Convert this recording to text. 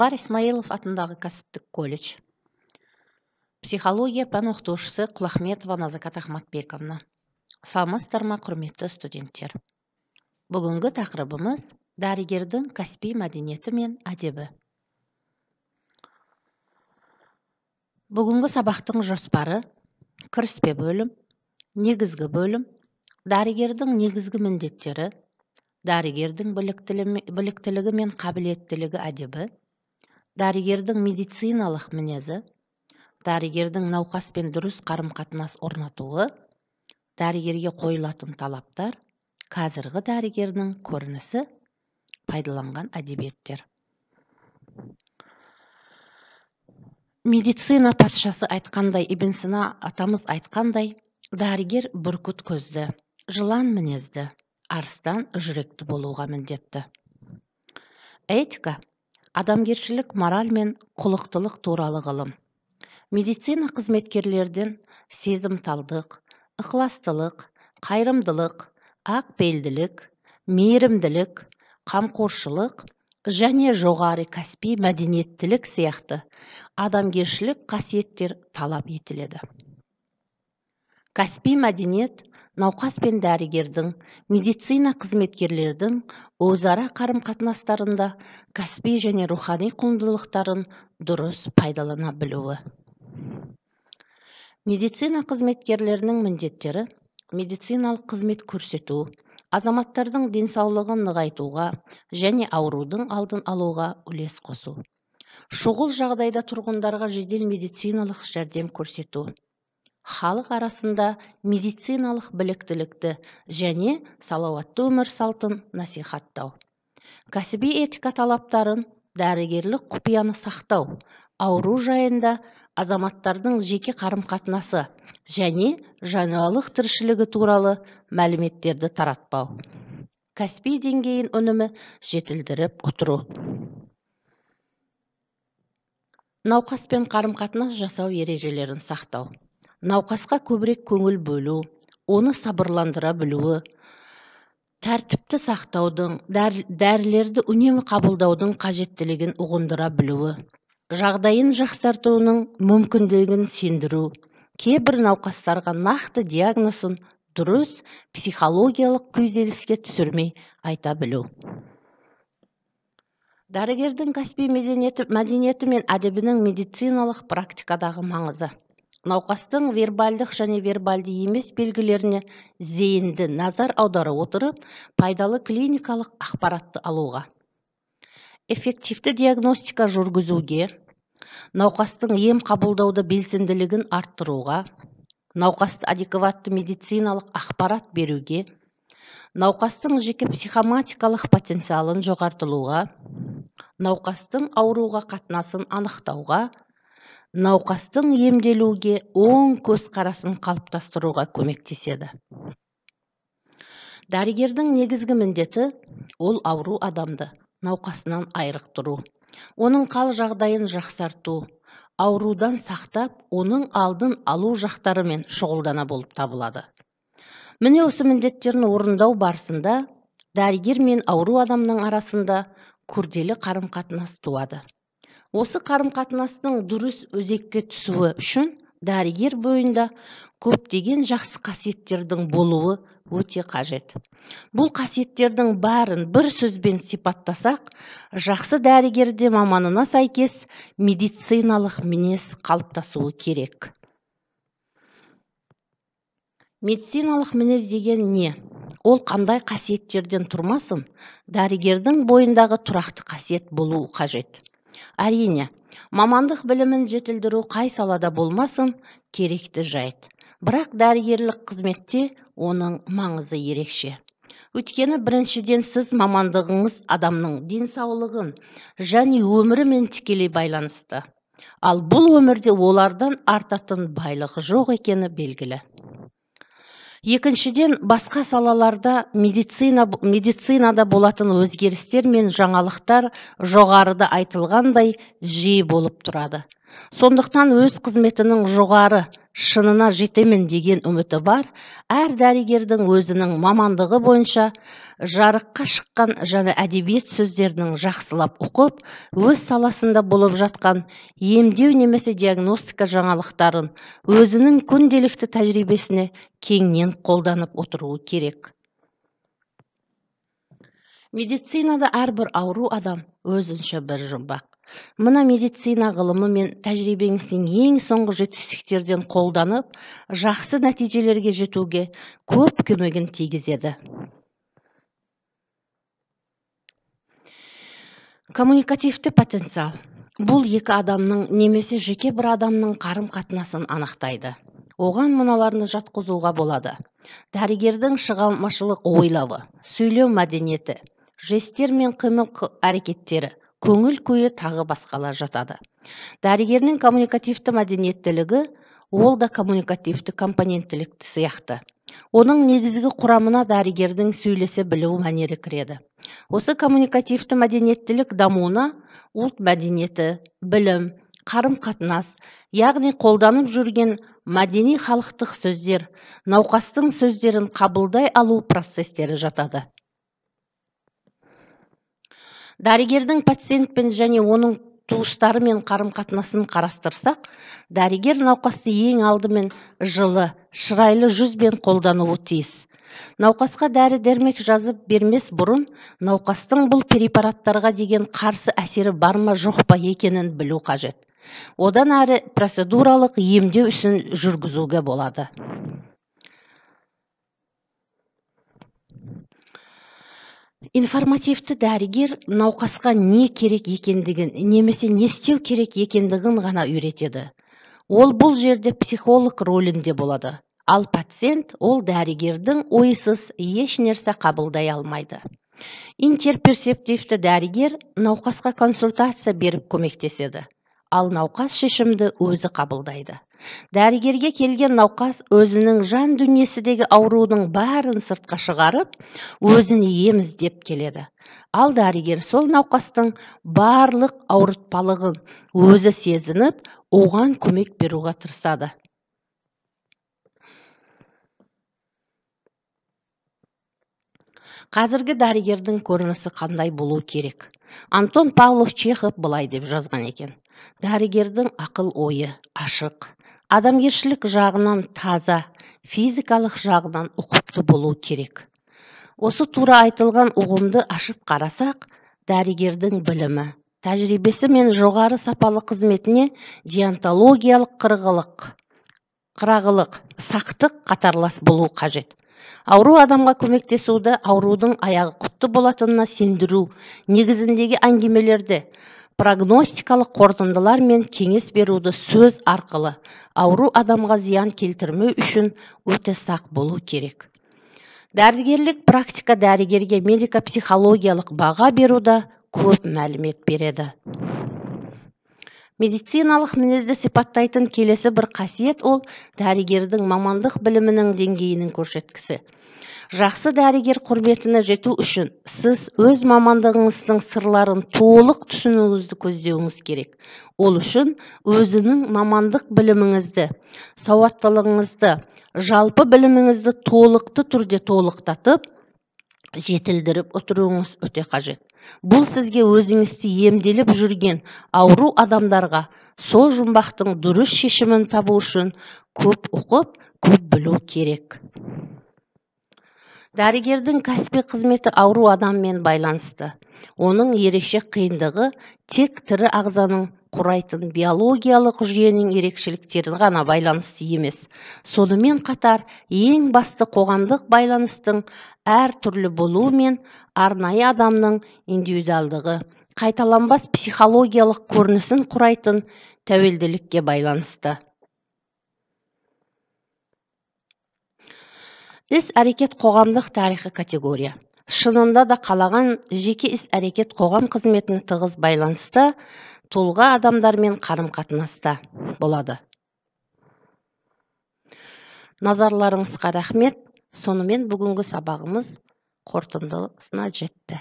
Талғар Исмаилов атындағы кәсіптік колледж. Психология пән оқытушысы Құлахметова Назакат Ахматбековна. Саламатсыздар ма, құрметті студенттер. Бүгінгі тақырыбымыз дәрігердің кәсіби мәдениеті мен әдебі. Бүгінгі сабақтың жоспары: кіріспе бөлім, негізгі бөлім, дәрігердің негізгі міндеттері, дәрігердің біліктілігі мен қабілеттілігі әдебі, дәрігердің медициналық мінезі, дәрігердің науқаспен дұрыс қарым-қатынас орнатуы, дәрігерге қойылатын талаптар, қазіргі дәрігердің көрінісі, пайдаланған әдебиеттер. Медицина патшасы айтқандай, Ибн Сина атамыз айтқандай, дәрігер бүркіт көзді, жылан мінезді, арыстан жүректі болуға міндетті. Этика – адамгершілік, мораль мен құлықтылық туралы ғылым. Медицина қызметкерлерден сезімталдық, ықыластылық, қайырымдылық, ақпейілділік, мейірімділік, қамқоршылық және жоғары кәсіби мәдениеттілік сияқты адамгершілік қасиеттер талап етіледі. Кәсіби мәдениет науқас пен дәрігердің, медицина қызметкерлердің өзара қарым-қатынастарында кәсіби және рухани құндылықтарын дұрыс пайдалана білуі. Медицина қызметкерлерінің міндеттері: медициналық қызмет көрсету, азаматтардың денсаулығын нығайтуға және аурудың алдын алуға үлес қосу. Шұғыл жағдайда тұрғындарға жедел медициналық жәрдем көрсету. Халық арасында медициналық біліктілікті және салауатты өмір салтын насихаттау. Кәсіби этика талаптарын, дәрігерлік құпияны сақтау, ауру жайында азаматтардың жеке қарым-қатынасы және жануарлық тіршілігі туралы мәліметтерді таратпау. Кәсіби деңгейін үнемі жетілдіріп отыру. Науқаспен қарым-қатынас жасау ережелерін сақтау. Науқасқа көбірек көңіл бөлу, оны сабырландыра білуі, тәртіпті сақтаудың, дәрілерді үнемі қабылдаудың қажеттілігін ұғындыра білуі, жағдайын жақсартуының мүмкіндігін сендіру, кейбір науқастарға нақты диагнозын дұрыс психологиялық күйзеліске түсірмей айта білу. Дәрігердің кәсіби мәдениеті мен әдебінің медициналық практикадағы маңызы. Науқастың вербальдық және вербальді емес белгілеріне зейінді назар аудара отырып, пайдалы клиникалық ақпаратты алуға. Эффективті диагностика жүргізуге, науқастың ем қабылдауды белсенділігін арттыруға, науқасты адекватты медициналық ақпарат беруге, науқастың жеке психоматикалық потенциалын жоғартылуға, науқастың ауруға қатынасын анықтауға, науқастың емделуге оң көзқарасын қалыптастыруға көмектеседі. Дәрігердің негізгі міндеті ол ауру адамды науқасынан айырықтыру, оның қал жағдайын жақсарту, аурудан сақтап, оның алдын алу жақтарымен шұғылдана болып табылады. Міне осы міндеттерін орындау барысында дәрігер мен ауру адамның арасында күрделі қарым-қатынас туады. Осы қарым-қатынастың дұрыс өзекке түсуі үшін дәрігер бойында көптеген жақсы қасиеттердің болуы өте қажет. Бұл қасиеттердің бәрін бір сөзбен сипаттасақ, жақсы дәрігерде маманына сәйкес медициналық мінез қалыптасуы керек. Медициналық мінез деген не? Ол қандай қасиеттерден тұрмасын, дәрігердің бойындағы тұрақты қасиет болуы қажет. Әрине, мамандық білімін жетілдіру қай салада болмасын керекті жайт. Бірақ дәрігерлік қызметте оның маңызы ерекше. Өйткені біріншіден сіз мамандығыңыз адамның денсаулығын және өмірімен тікелей байланысты. Ал бұл өмірде олардан артатын байлығы жоқ екені белгілі. Екіншіден, басқа салаларда медицинада болатын өзгерістер мен жаңалықтар жоғарыда айтылғандай жиі болып тұрады. Сондықтан өз қызметінің жоғары шынына жетемін деген үміті бар әр дәрігердің өзінің мамандығы бойынша жарыққа шыққан және әдебиет сөздерінің жақсылап оқып, өз саласында болып жатқан емдеу немесе диагностика жаңалықтарын өзінің күнделікті тәжірибесіне кеңінен қолданып отыруы керек. Медицинада әрбір ауру адам өзінше бір жұмбақ. Мына медицина ғылымы мен тәжірибеңіздің ең соңғы жетістіктерден қолданып, жақсы нәтижелерге жетуге көп көмегін тигізеді. Коммуникативті потенциал. Бұл екі адамның немесе жеке бір адамның қарым-қатынасын анықтайды. Оған мыналарны жатқызуға болады. Дәрігердің шығармашылық ойлауы, сөйлеу мәдениеті, жестер мен қимыл әрекеттері, көңіл күйі тағы басқалар жатады. Дәрігердің коммуникативті мәдениеттілігі, ол да коммуникативті компоненттілікті сияқты. Оның негізгі құрамына дәрігердің сөйлесе білу мәнері кіреді. Осы коммуникативті мәдениеттілік дамуына ұлт мәдениеті, білім, қарым-қатынас, яғни қолданып жүрген мәдени халықтық сөздер, науқастың сөздерін қабылдай алу процестері жатады. Дәрігердің пациентпен және оның туыстарымен қарым-қатынасын қарастырсақ, дәрігер науқасты ең алдымен жылы, шырайлы жүзбен қолдануы тиіс. Науқасқа дәрі-дәрмек жазып бермес бұрын, науқастың бұл препараттарға деген қарсы әсері бар ма жоқ па екенін білу қажет. Одан әрі процедуралық емдеу ісін жүргізуге болады. Информативті дәрігер науқасқа не керек екендігін, немесе не істеу керек екендігін ғана үйретеді. Ол бұл жерде психолог рөлінде болады. Ал пациент ол дәрігердің ойсыз еш нәрсе қабылдай алмайды. Интерперсептивті дәрігер науқасқа консультация беріп көмектеседі. Ал науқас шешімді өзі қабылдайды. Дәрігерге келген науқас өзінің жан дүниесіндегі аурудың бәрін сыртқа шығарып, өзіне ем іздеп келеді. Ал дәрігер сол науқастың барлық ауыртпалығын өзі сезініп, оған көмек беруге тырысады. Қазіргі дәрігердің көрінісі қандай болу керек? Антон Павлов Чехов былай деп жазған екен. Дәрігердің ақыл ойы ашық, адамгершілік жағынан таза, физикалық жағынан ұқыпты болу керек. Осы тура айтылған ұғымды ашып қарасақ, дәрігердің білімі, тәжірибесі мен жоғары сапалы қызметіне деонтологиялық қырағылық, сақтық қатарлас болу қажет. Ауру адамға көмектесуді аурудың аяғы құтты болатынына сендіру негізіндегі әңгімелерді, прогностикалық қорытындылар мен кеңес беруді сөз арқылы ауру адамға зиян келтірмеу үшін өте сақ болу керек. Дәрігерлік практика дәрігерге медико-психологиялық баға беруді көп мәлімет береді. Медициналық мінезді сипаттайтын келесі бір қасиет ол дәрігердің мамандық білімінің деңгейінің көрсеткісі. Жақсы дәрігер құрметіне жету үшін сіз өз мамандығыңыздың сырларын толық түсінуіңізді көздеуіңіз керек. Ол үшін өзінің мамандық біліміңізді, сауаттылығыңызды, жалпы біліміңізді толықты түрде толықтатып, жетілдіріп отыруыңыз өте қажет. Бұл сізге өзіңізді емделіп жүрген ауру адамдарға сол жұмбақтың дұрыс шешімін табу үшін көп оқып, көп білу керек. Дәрігердің кәсіби қызметі ауру адаммен байланысты. Оның ерекше қиындығы тек тірі ағзаның құрайтын биологиялық жүйенің ерекшеліктерін ғана байланысты емес. Сонымен қатар ең басты қоғамдық байланыстың әр түрлі болуы мен арнайы адамның индивидуалдығы, қайталанбас психологиялық көрінісін құрайтын тәуелділікке байланысты. Іс-әрекет қоғамдық тарихи категория. Шынында да қалаған жеке іс-әрекет қоғам қызметіне тығыз байланысты, тұлға адамдармен қарым-қатынаста болады. Назарларыңызға рахмет. Сонымен бүгінгі сабағымыз қорытындысына жетті.